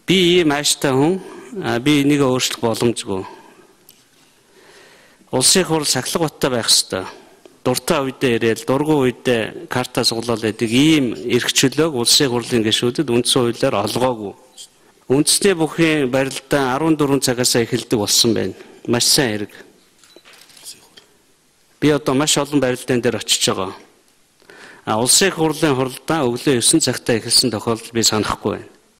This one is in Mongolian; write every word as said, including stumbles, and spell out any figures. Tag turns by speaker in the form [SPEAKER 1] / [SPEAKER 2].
[SPEAKER 1] Би ийм ааштай хүн, би энийг өөрчлөх боломжгүй. Улсын хурл сахилгаттай байх ёстой. Дуртай үедээ ирээл, дургүй үедээ карта суглал гэдэг ийм эрх чөлөөг улсын хурлын гишүүдэд үндсэн хуулиар олгоогүй. Үндэсний бүхий барилдаа арван дөрвөн цагаас эхэлдэг болсон байна. Маш сайн хэрэг. Би одоо маш олон барилдаан дээр очиж байгаа. А улсын хурлын хурлаа өглөө девять цагтаа эхэлсэн тохиолдол би санахгүй байна.